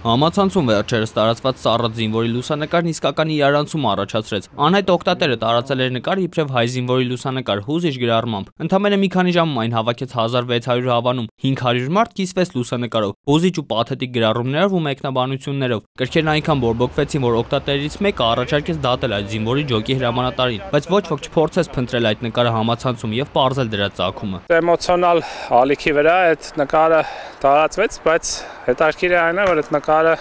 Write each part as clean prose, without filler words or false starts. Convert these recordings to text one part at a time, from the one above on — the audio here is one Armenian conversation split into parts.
Համացանցում վերջերս տարածված սառը զինվորի լուսանկարն իսկական իրարանցում առաջացրեց։ Անհայտ օգտատերը տարածել էր նկար իբրև հայ զինվորի լուսանկար հուզիչ գրառմամբ։ Ընդամենը մի քանի ժամում այն հավաքեց 1600 հավանում, 500 մարդ կիսվեց լուսանկարով, հուզիչ ու պաթետիկ գրառումներով ու մեկնաբանություններով։ Կրքերն այնքան բորբոքվեցին, որ օգտատերից մեկը առաջարկեց դատել այդ զինվորի ջոկի հրամանատարին, բայց ոչ ոք չփորձեց փնտրել այդ նկարը համացանցում եւ պարզել դրա ծագումը։ Էմոցիոնալ ալիքի վրա այդ նկարը տարածվեց, բայց հետաքրքիր է այն է, որ այդ նկարը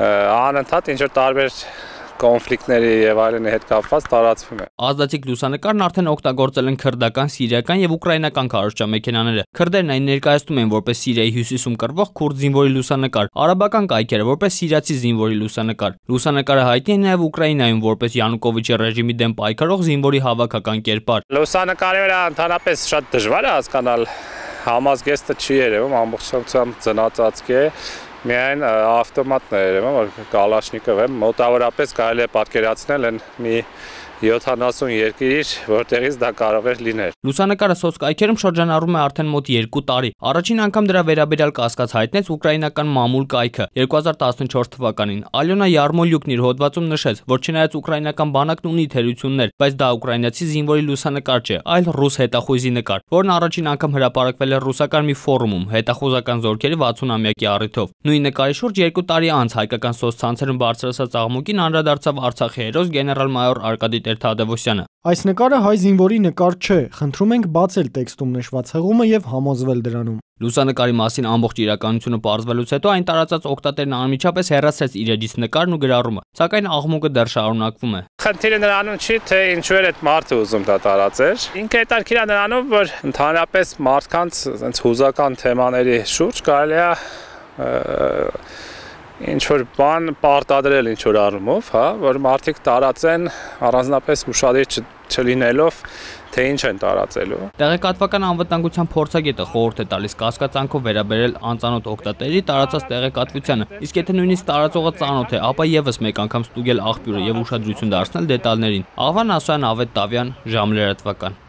անընդհատ ինչ-որ տարբեր կոնֆլիկտների եւ այլնի հետ կապված տարածվում է։ Ազդեցիկ լուսանկարն արդեն օգտագործել են քրդական, սիրիական եւ ուկրաինական քարոզչամեքենաները։ Քրդերն այն ներկայացնում են որպես Սիրիայի հյուսիսում կռվող քուրդ զինվորի լուսանկար, արաբական կայքերը որպես սիրիացի զինվորի լուսանկար։ Լուսանկարը հայտնի է նաեւ Ուկրաինայում որպես Յանուկովիչի ռեժիմի դեմ պայքարող զինվորի հավաքական կերպար։ Լուսանկարի վրա ընդհանրապես շատ դժվար է հասկանալ, համազգեստը չի երևում, ամբողջությամբ ծնածածկ է։ Միայն ավտոմատն է երևում, որ կալաշնիկով է, մոտավորապես կարելի է պատկերացնել են մի 70 երկիր, որտեղից դա կարող էր լինել։ Լուսանկարը սոցկայքերում շրջանառվում է արդեն մոտ 2 տարի։ Առաջին անգամ դրա վերաբերյալ կասկած հայտնեց ուկրաինական մամուլ կայքը 2014 թվականին։ Ալյոնա Յարմոլյուկն իր հոդվածում նշեց, որ չնայած ուկրաինական բանակն ունի թերություններ, բայց դա ուկրաինացի զինվորի լուսանկար չէ, այլ ռուս հետախույզի նկար, որն առաջին անգամ հրապարակվել է ռուսական մի ֆորումում հետախուզական զորքերի 60-ամյակի առիթով։ Նույն նկարի շուրջ 2 տարի անց հայկական սոցցանցերում բարձրացած աղմուկին անդրադարձավ Արցախի հերոս գեներալ-մայոր Արկադի Տեր-Թադևոսյանը։ Այս նկարը հայ զինվորի նկար չէ, խնդրում ենք բացել տեքստում նշված հղումը եւ համոզվել դրանում։ Լուսանկարի մասին ամբողջ իրականությունը պարզվելուց հետո այն տարածած օգտատերն անմիջապես հեռացրեց իր էջից նկարն ու գրառումը, սակայն աղմուկը դեռ շարունակվում է։ Խնդիրը նրանում չի, թե ինչու էր այդ մարդը ուզում դա տարածել։ Ինքը հետաքրքիր է նրանով, որ ընդհանրապես մարդկանց այնց հուզական թեմաների շուրջ կարելի է ինչ-որ բան պարտադրել ինչ-որ առումով, հա, որ մարդիկ տարածեն առանձնապես ուշադիր չլինելով, թե ինչ են տարածելու։ Տեղեկատվական անվտանգության փորձագետը խորհուրդ է տալիս կասկածանքով վերաբերել անծանոթ օգտատերերի տարածած տեղեկատվությանը, իսկ եթե նույնիսկ տարածողը ծանոթ է, ապա եւս մեկ անգամ ստուգել աղբյուրը եւ ուշադրություն դարձնել դետալներին։ Աղվան Ասոյան, Ավետ Տավյան, Ժամ լրատվական։